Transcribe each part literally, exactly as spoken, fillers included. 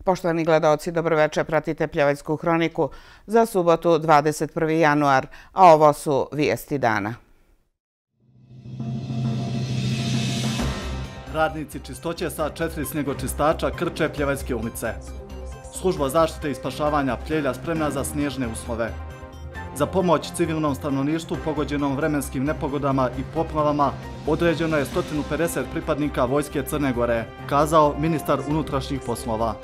Poštovani gledaoci, dobroveče, pratite Pljevajsku hroniku za subotu dvadeset prvi januar, a ovo su vijesti dana. Radnici čistoće sa četiri snjegočistača krče Pljevajske ulice. Služba zaštite i spašavanja Pljevlja spremna za snježne uslove. Za pomoć civilnom stanovništvu pogođenom vremenskim nepogodama i poplavama određeno je sto pedeset pripadnika Vojske Crne Gore, kazao ministar unutrašnjih poslova.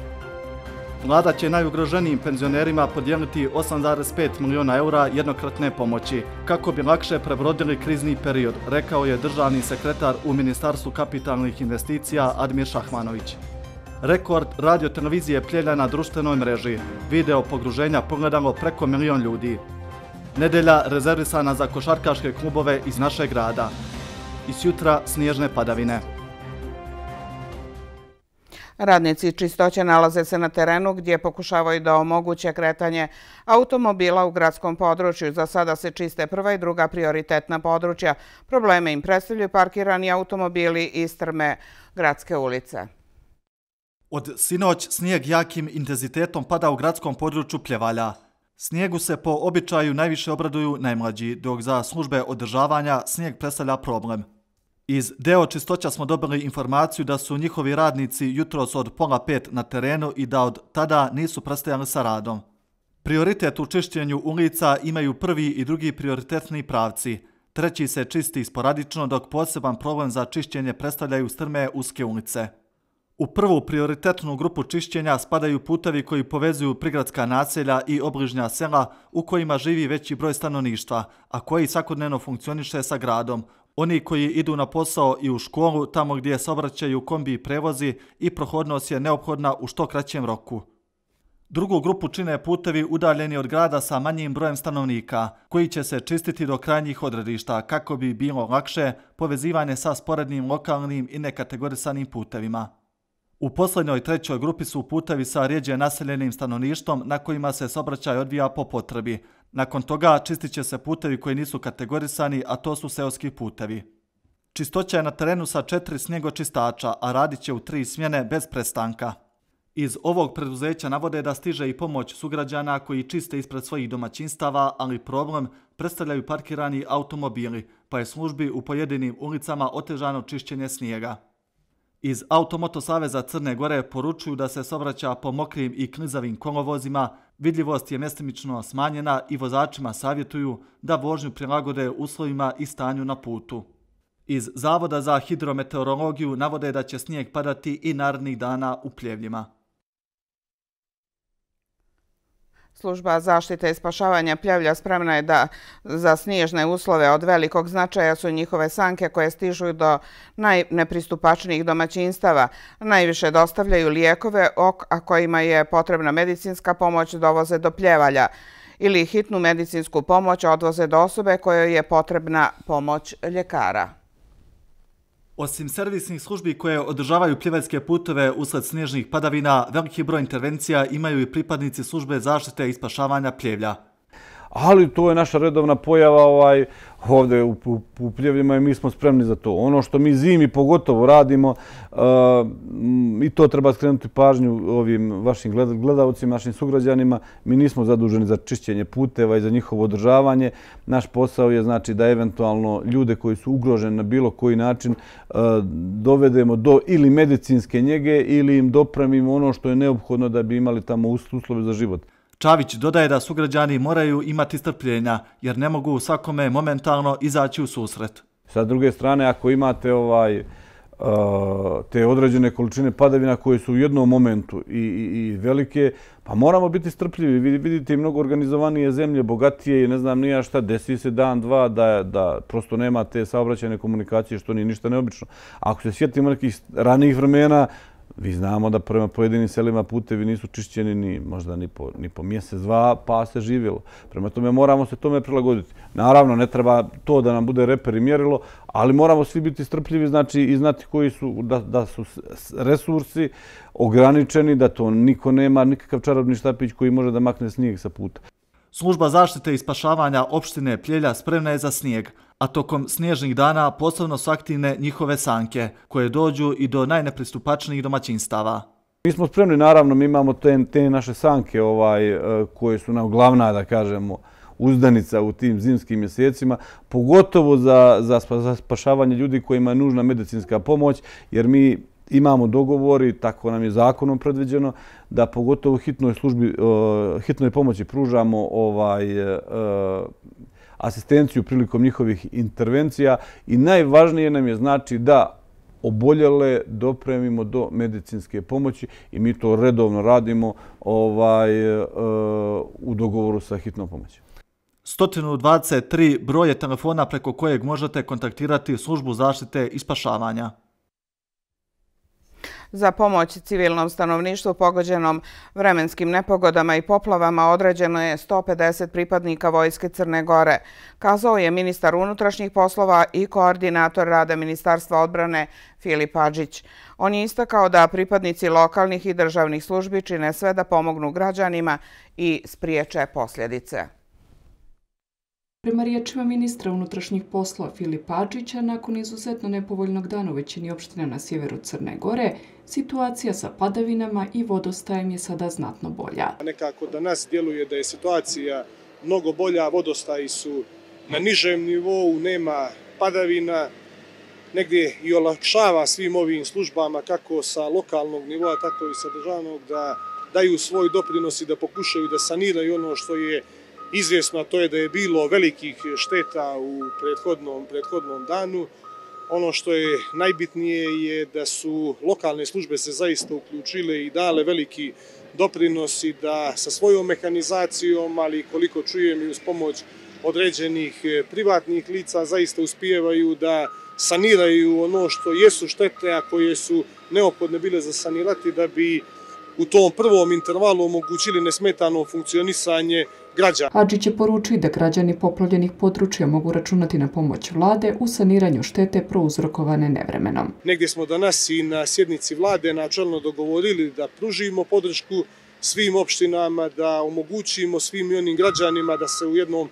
Vlada će najugroženijim penzionerima podijeliti osam zarez pet miliona eura jednokratne pomoći, kako bi lakše prebrodili krizni period, rekao je državni sekretar u Ministarstvu kapitalnih investicija Admir Šahmanović. Rekord radio-televizije Pljevlja na društvenoj mreži. Video pogruženja pogledalo preko milion ljudi. Nedelja rezervisana za košarkaške klubove iz našeg grada. Iz jutra snježne padavine. Radnici čistoće nalaze se na terenu gdje pokušavaju da omoguće kretanje automobila u gradskom području. Za sada se čiste prva i druga prioritetna područja. Probleme im predstavljaju parkirani automobili i strme gradske ulice. Od sinoć snijeg jakim intenzitetom pada u gradskom području Pljevalja. Snijegu se po običaju najviše obraduju najmlađi, dok za službe održavanja snijeg predstavlja problem. Iz deo čistoća smo dobili informaciju da su njihovi radnici jutros od pola pet na terenu i da od tada nisu prestajali sa radom. Prioritet u čišćenju ulica imaju prvi i drugi prioritetni pravci. Treći se čisti sporadično, dok poseban problem za čišćenje predstavljaju strme uske ulice. U prvu prioritetnu grupu čišćenja spadaju putevi koji povezuju prigradska naselja i obližnja sela u kojima živi veći broj stanovništva, a koji svakodnevno funkcioniše sa gradom. Oni koji idu na posao i u školu, tamo gdje saobraćaju kombi i prevozi i prohodnost je neophodna u što kraćem roku. Drugu grupu čine putevi udaljeni od grada sa manjim brojem stanovnika, koji će se čistiti do krajnjih odredišta kako bi bilo lakše povezivanje sa sporednim lokalnim i nekategorisanim putevima. U posljednjoj trećoj grupi su putevi sa rijeđe naseljenim stanovništvom na kojima se saobraćaj odvija po potrebi. Nakon toga čistit će se putevi koji nisu kategorisani, a to su seoski putevi. Čistoća je na terenu sa četiri snjegočistača, a radit će u tri smjene bez prestanka. Iz ovog preduzeća navode da stiže i pomoć sugrađana koji čiste ispred svojih domaćinstava, ali problem predstavljaju parkirani automobili, pa je službi u pojedinim ulicama otežano čišćenje snijega. Iz Automoto Saveza Crne Gore poručuju da se saobraća po mokrim i klizavim kolovozima, vidljivost je mjestimično smanjena i vozačima savjetuju da vožnju prilagode uslovima i stanju na putu. Iz Zavoda za hidrometeorologiju navode da će snijeg padati i narednih dana u Pljevljima. Služba zaštite i spašavanja Pljevlja spremna je da za snježne uslove od velikog značaja su njihove sanke koje stižu do najnepristupačnijih domaćinstava. Najviše dostavljaju lijekove, a kojima je potrebna medicinska pomoć dovoze do Pljevalja ili hitnu medicinsku pomoć odvoze do osobe kojoj je potrebna pomoć ljekara. Osim servisnih službi koje održavaju pljevajske puteve usled snježnih padavina, veliki broj intervencija imaju i pripadnici službe zaštite i spašavanja Pljevlja. Ali to je naša redovna pojava ovaj, ovdje u, u, u Pljevljima i mi smo spremni za to. Ono što mi zimi pogotovo radimo, uh, i to treba skrenuti pažnju ovim vašim gledalcima, našim sugrađanima, mi nismo zaduženi za čišćenje puteva i za njihovo održavanje. Naš posao je znači da eventualno ljude koji su ugroženi na bilo koji način uh, dovedemo do ili medicinske njege ili im dopremimo ono što je neophodno da bi imali tamo uslove za život. Čavić dodaje da sugrađani moraju imati strpljenja jer ne mogu svakome momentalno izaći u susret. Sa druge strane, ako imate ovaj, te određene količine padavina koje su u jednom momentu i, i, i velike, pa moramo biti strpljivi. Vidite i mnogo organizovanije zemlje, bogatije i ne znam nija šta, desi se dan, dva da, da prosto nema te saobraćajne komunikacije što nije ništa neobično. Ako se sjetimo nekih ranijih vremena, vi znamo da prema pojedinim selima putevi nisu čišćeni ni možda ni po, ni po mjesec, dva, pa se živjelo. Prema tome moramo se tome prilagoditi. Naravno, ne treba to da nam bude reper i mjerilo, ali moramo svi biti strpljivi, znači i znati koji su, da, da su resursi ograničeni, da to niko nema, nikakav čarobni štapić koji može da makne snijeg sa puta. Služba zaštite i spašavanja opštine Pljevlja spremna je za snijeg, a tokom snježnih dana posebno su aktivne njihove sanke, koje dođu i do najnepristupačnijih domaćinstava. Mi smo spremni, naravno, mi imamo te, te naše sanke ovaj, koje su nam glavna, da kažemo, uzdanica u tim zimskim mjesecima, pogotovo za, za, za spašavanje ljudi kojima je nužna medicinska pomoć, jer mi imamo dogovori, tako nam je zakonom predviđeno, da pogotovo hitnoj službi, hitnoj pomoći pružamo ovaj, asistenciju prilikom njihovih intervencija i najvažnije nam je znači da oboljele dopremimo do medicinske pomoći i mi to redovno radimo ovaj, u dogovoru sa hitnom pomoći. sto dvadeset tri broje telefona preko kojeg možete kontaktirati službu zaštite i spašavanja. Za pomoć civilnom stanovništvu pogođenom vremenskim nepogodama i poplavama određeno je sto pedeset pripadnika Vojske Crne Gore, kazao je ministar unutrašnjih poslova i koordinator rada Ministarstva odbrane Filip Adžić. On je istakao da pripadnici lokalnih i državnih službi čine sve da pomognu građanima i spriječe posljedice. Prema riječima ministra unutrašnjih poslova Filipa Adžića, nakon izuzetno nepovoljnog dana u većini opština na sjeveru Crne Gore, situacija sa padavinama i vodostajem je sada znatno bolja. Nekako danas djeluje da je situacija mnogo bolja, vodostaji su na nižem nivou, nema padavina, negdje i olakšava svim ovim službama, kako sa lokalnog nivoa, tako i sa državnog, da daju svoj doprinos i da pokušaju da saniraju ono što je izvjesno, a to je da je bilo velikih šteta u prethodnom, prethodnom danu. Ono što je najbitnije je da su lokalne službe se zaista uključile i dale veliki doprinos i da sa svojom mehanizacijom, ali koliko čujem i uz pomoć određenih privatnih lica, zaista uspijevaju da saniraju ono što jesu štete, a koje su neophodne bile za sanirati da bi u tom prvom intervalu omogućili nesmetano funkcionisanje građana. Adžić je poručio da građani poplavljenih područja mogu računati na pomoć vlade u saniranju štete prouzrokovane nevremenom. Negdje smo danas i na sjednici vlade načelno dogovorili da pružimo podršku svim opštinama, da omogućimo svim i onim građanima da se u jednom,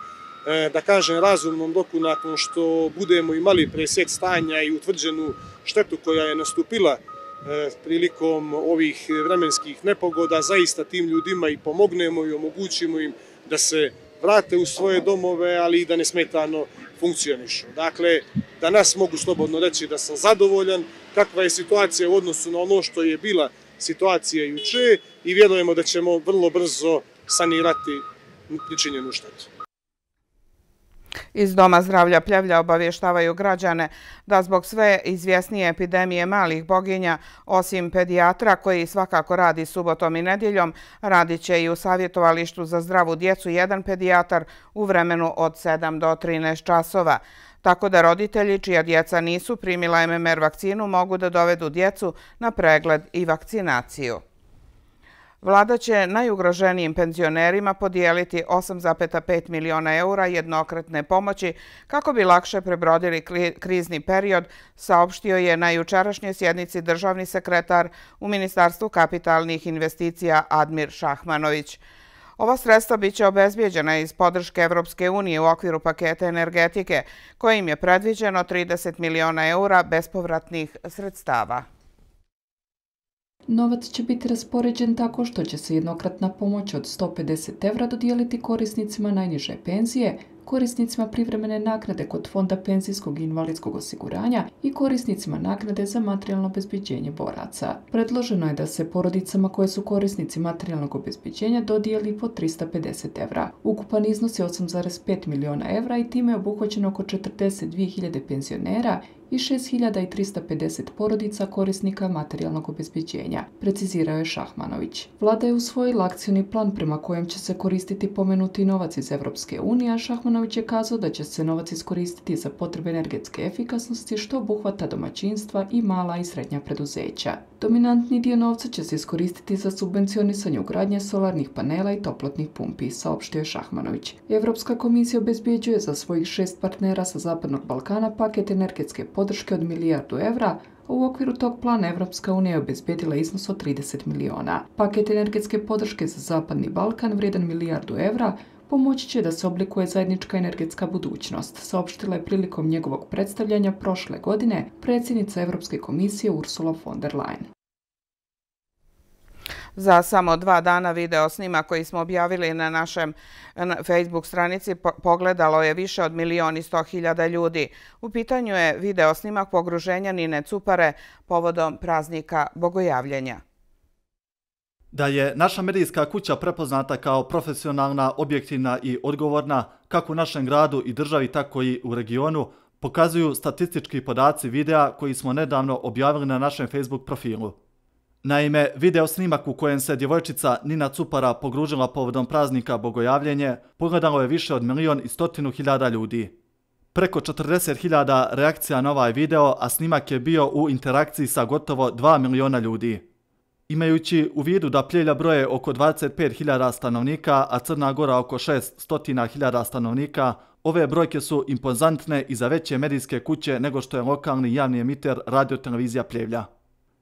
da kažem, razumnom roku, nakon što budemo imali presjek stanja i utvrđenu štetu koja je nastupila prilikom ovih vremenskih nepogoda, zaista tim ljudima i pomognemo i omogućimo im da se vrate u svoje domove, ali i da nesmetano funkcionišu. Dakle, danas mogu slobodno reći da sam zadovoljan kakva je situacija u odnosu na ono što je bila situacija juče i vjerujemo da ćemo vrlo brzo sanirati pričinjenu štetu. Iz Doma zdravlja Pljevlja obavještavaju građane da zbog sve izvjesnije epidemije malih boginja, osim pedijatra koji svakako radi subotom i nedjeljom, radit će i u savjetovalištu za zdravu djecu jedan pedijatar u vremenu od sedam do trinaest časova. Tako da roditelji čija djeca nisu primila M M R vakcinu mogu da dovedu djecu na pregled i vakcinaciju. Vlada će najugroženijim penzionerima podijeliti osam zarez pet miliona eura jednokratne pomoći kako bi lakše prebrodili krizni period, saopštio je na jučerašnjoj sjednici državni sekretar u Ministarstvu kapitalnih investicija Admir Šahmanović. Ova sredstva biće obezbijeđena iz podrške Evropske unije u okviru paketa energetike, kojim je predviđeno trideset miliona eura bespovratnih sredstava. Novac će biti raspoređen tako što će se jednokratna pomoć od sto pedeset evra dodijeliti korisnicima najniže penzije, korisnicima privremene naknade kod Fonda penzijskog i invalidskog osiguranja i korisnicima naknade za materijalno obezbeđenje boraca. Predloženo je da se porodicama koje su korisnici materijalnog obezbeđenja dodijeli po trista pedeset evra. Ukupan iznos je osam zarez pet miliona evra i time je obuhvaćeno oko četrdeset dvije hiljade penzionera i šest hiljada trista pedeset porodica korisnika materijalnog obezbeđenja, precizirao je Šahmanović. Vlada je usvojila akcioni plan prema kojem će se koristiti pomenuti novac iz Evropske unije, a Šahmanović je kazao da će se novac iskoristiti za potrebe energetske efikasnosti, što obuhvata domaćinstva i mala i srednja preduzeća. Dominantni dio novca će se iskoristiti za subvencionisanje ugradnje solarnih panela i toplotnih pumpi, saopštio je Šahmanović. Evropska komisija obezbeđuje za svojih šest partnera sa Zapadnog Balkana paket energetske podrške od milijardu evra, a u okviru tog plana Evropska unija je obezbedila iznos od trideset miliona. Paket energetske podrške za Zapadni Balkan vrijedan milijardu evra pomoći će da se oblikuje zajednička energetska budućnost, saopštila je prilikom njegovog predstavljanja prošle godine predsjednica Evropske komisije Ursula von der Leyen. Za samo dva dana video snima koji smo objavili na našem Facebook stranici pogledalo je više od milion i sto hiljada ljudi. U pitanju je video snimak pogruženja Nine Cupare povodom praznika Bogojavljenja. Da je naša medijska kuća prepoznata kao profesionalna, objektivna i odgovorna, kako u našem gradu i državi, tako i u regionu, pokazuju statistički podaci videa koji smo nedavno objavili na našem Facebook profilu. Naime, video snimak u kojem se djevojčica Nina Cupara pogružila povodom praznika Bogojavljenje pogledalo je više od milion i stotinu hiljada ljudi. Preko četrdeset hiljada reakcija na ovaj video, a snimak je bio u interakciji sa gotovo dva miliona ljudi. Imajući u vidu da Pljevlja broje oko dvadeset pet hiljada stanovnika, a Crna Gora oko šest stotina hiljada stanovnika, ove brojke su impozantne i za veće medijske kuće nego što je lokalni javni emiter Radio Televizija Pljevlja.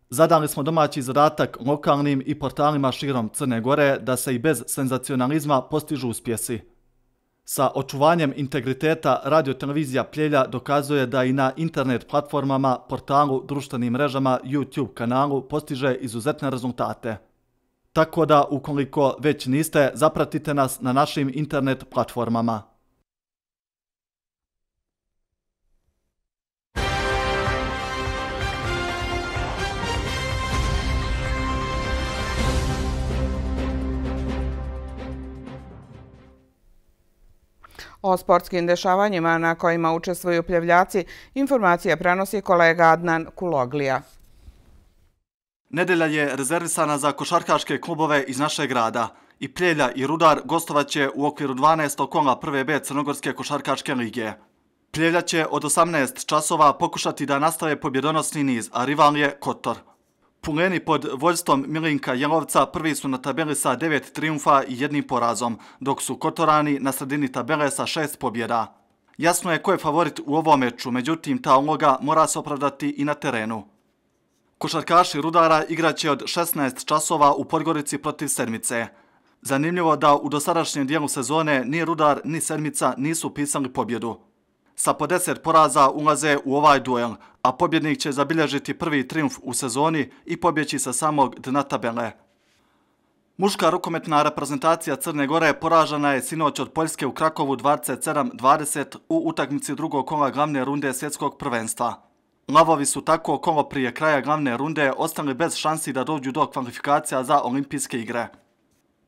Zadali smo domaći zadatak lokalnim i portalima širom Crne Gore da se i bez senzacionalizma postižu uspjesi. Sa očuvanjem integriteta Radio Televizija Pljevlja dokazuje da i na internet platformama, portalu, društvenim mrežama, YouTube kanalu postiže izuzetne rezultate. Tako da, ukoliko već niste, zapratite nas na našim internet platformama. O sportskim dešavanjima na kojima učestvuju Pljevljaci informacije prenosi kolega Adnan Kuloglija. Nedelja je rezervisana za košarkaške klubove iz našeg grada. I Pljevlja i Rudar gostovaće u okviru dvanaestog kola prve B Crnogorske košarkaške lige. Pljevlja će od osamnaest časova pokušati da nastave pobjedonosni niz, a rival je Kotor. Puleni pod vođstvom Milinka Jelovca prvi su na tabeli sa devet trijumfa i jednim porazom, dok su Kotorani na sredini tabele sa šest pobjeda. Jasno je ko je favorit u ovom meču, međutim ta uloga mora se opravdati i na terenu. Košarkaši Rudara igraće od šesnaest časova u Podgorici protiv Sedmice. Zanimljivo da u dosadašnjem dijelu sezone ni Rudar ni Sedmica nisu pisali pobjedu. Sa po deset poraza ulaze u ovaj duel, a pobjednik će zabilježiti prvi trijumf u sezoni i pobjeći sa samog dna tabele. Muška rukometna reprezentacija Crne Gore poražena je sinoć od Poljske u Krakovu dvadeset sedam dvadeset u utakmici drugog kola glavne runde svjetskog prvenstva. Lavovi su tako kolo prije kraja glavne runde ostali bez šansi da dođu do kvalifikacija za olimpijske igre.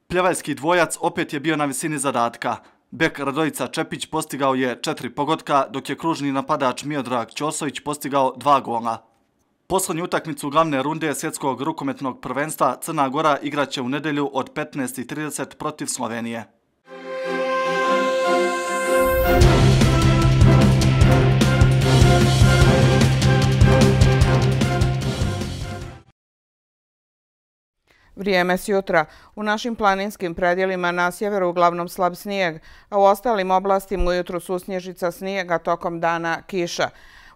Pljevaljski dvojac opet je bio na visini zadatka. Bek Radojica Čepić postigao je četiri pogotka, dok je kružni napadač Miodrag Ćosović postigao dva gola. Posljednju utakmicu glavne runde svjetskog rukometnog prvenstva Crna Gora igraće u nedelju od petnaest i trideset protiv Slovenije. Vrijeme s jutra. U našim planinskim predjelima na sjeveru uglavnom slab snijeg, a u ostalim oblastima ujutru susnježica snijega, tokom dana kiša.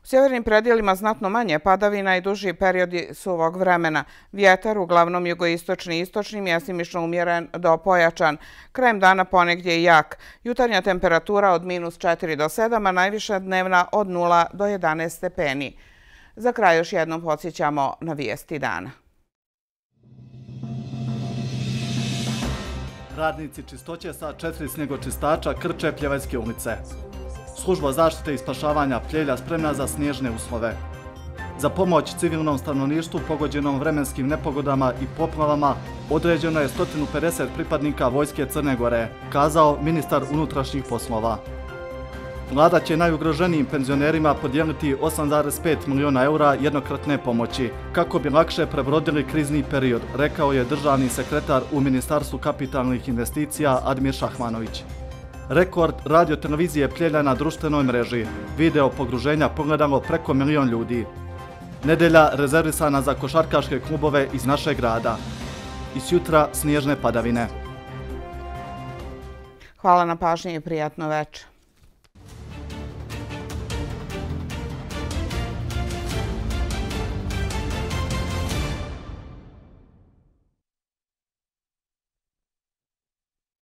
U sjevernim predjelima znatno manje padavina i duži periodi suvog vremena. Vjetar uglavnom jugoistočni i istočni, mjestimično umjeren do pojačan. Krajem dana ponegdje i jak. Jutarnja temperatura od minus četiri do sedam, a najviša dnevna od nula do jedanaest stepeni. Za kraj još jednom podsjećamo na vijesti dana. Radnici čistoće sa četiri snjegočistača krče Pljevaljske ulice. Služba zaštite i spašavanja Pljevlja spremna za snježne uslove. Za pomoć civilnom stanovništvu pogođenom vremenskim nepogodama i poplavama određeno je sto pedeset pripadnika Vojske Crne Gore, kazao ministar unutrašnjih poslova. Vlada će najugroženijim penzionerima podijeliti osam zarez pet miliona eura jednokratne pomoći, kako bi lakše prebrodili krizni period, rekao je državni sekretar u Ministarstvu kapitalnih investicija Admir Šahmanović. Rekord Radio Televizije Pljevlja na društvenoj mreži. Video pogruženja pogledalo preko milion ljudi. Nedelja rezervisana za košarkaške klubove iz našeg grada. I sutra snježne padavine. Hvala na pažnji i prijatno večer.